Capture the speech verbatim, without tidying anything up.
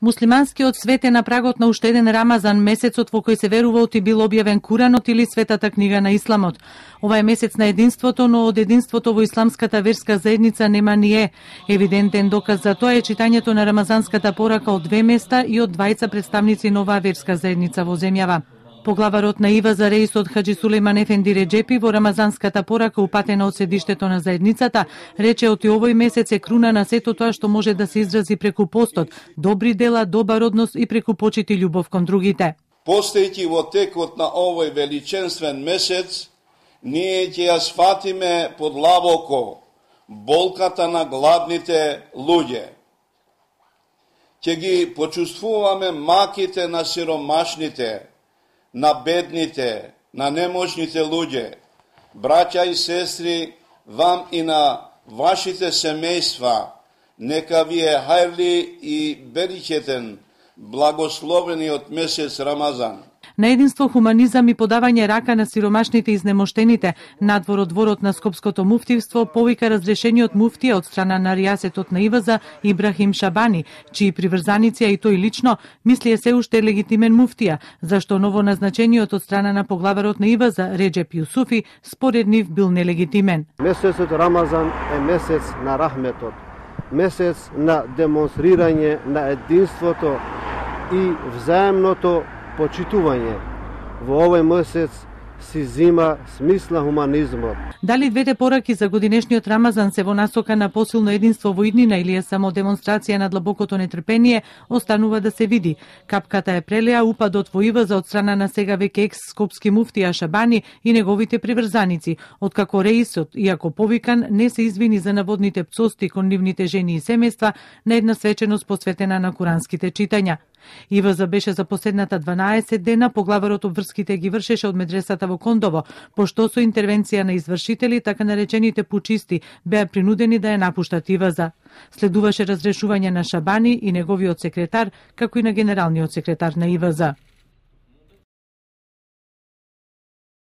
Муслиманскиот свет е на прагот на уште еден Рамазан, месецот во кој се верува оти бил објавен Куранот или Светата книга на Исламот. Ова е месец на единството, но од единството во исламската верска заедница нема ни е. Евидентен доказ за тоа е читањето на рамазанската порака од две места и од двајца представници на оваа верска заедница во земјава. Поглаварот на ИВА-за Реисот Хаџи Сулејман Ефенди Реџепи во рамазанската порака упатена од седиштето на заедницата рече оти овој месец е круна на сето тоа што може да се изрази преку постот, добри дела, добар однос и преку почит и љубов кон другите. Постојќи во текот на овој величенствен месец, ние ќе ја сфатиме подлабоко болката на гладните луѓе. Ќе ги почувствуваме маките на сиромашните, на бедните, на немощните луѓе. Браќа и сестри, вам и на вашите семејства, нека ви е хајрли и беричетен, благословениот месец Рамазан. На единство, хуманизам и подавање рака на сиромашните и изнемоштените, надвор од дворот на Скопското муфтивство повика разрешениот муфтија од страна на ријасетот на ИВА-за Ибрахим Шабани, чии приврзаници, а и тој лично, мисли е се уште легитимен муфтија, зашто новоназначениот од страна на поглаварот на ИВА-за Реџеп Јусуфи според нив бил нелегитимен. Месецот Рамазан е месец на рахметот, месец на демонстрирање на единството и взаемното почитување. Во овој месец си зима смисла хуманизмот. Дали двете пораки за годинешниот Рамазан се во насока на посилно единство во иднина или е само демонстрација на длабокото нетрпение, останува да се види. Капката е прелеа упадот во ИВА-за од страна на сега веќе екс скопски муфтија Шабани и неговите приврзаници, откако Реисот, иако повикан, не се извини за наводните пцости кон нивните жени и семејства на една свеченост посветена на куранските читања. ИВА-за беше за последната дванаесет дена, поглаварот обврските ги вршеше од медресата во Кондово, пошто со интервенција на извршители, така наречените пучисти, беа принудени да ја напуштат ИВА-за. Следуваше разрешување на Шабани и неговиот секретар, како и на генералниот секретар на ИВА-за.